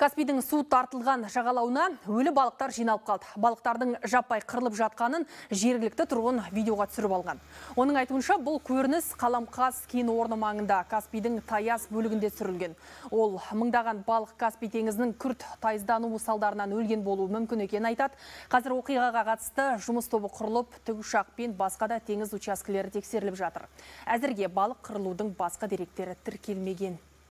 Каспийдің су тартылған жағалауына өлі балықтар жиналып қалды. Балықтардың жаппай қырылып жатқанын жергілікті тұрғын видеоға түсіріп алған. Оның айтуынша, бұл көрініс Қаламқас кен орны маңында Каспийдің таяз бөлігінде түсірілген. Ол мыңдаған балық Каспий теңізінің күрт тайыздануы салдарынан өлген болуы мүмкін екенін айтады. Қазір оқиғаға қатысты жұмыс тобы құрылып, тікұшақпен басқа да теңіз учаскелері тексеріліп жатыр. Әзірге балық қырылудың басқа деректері тіркелмеген.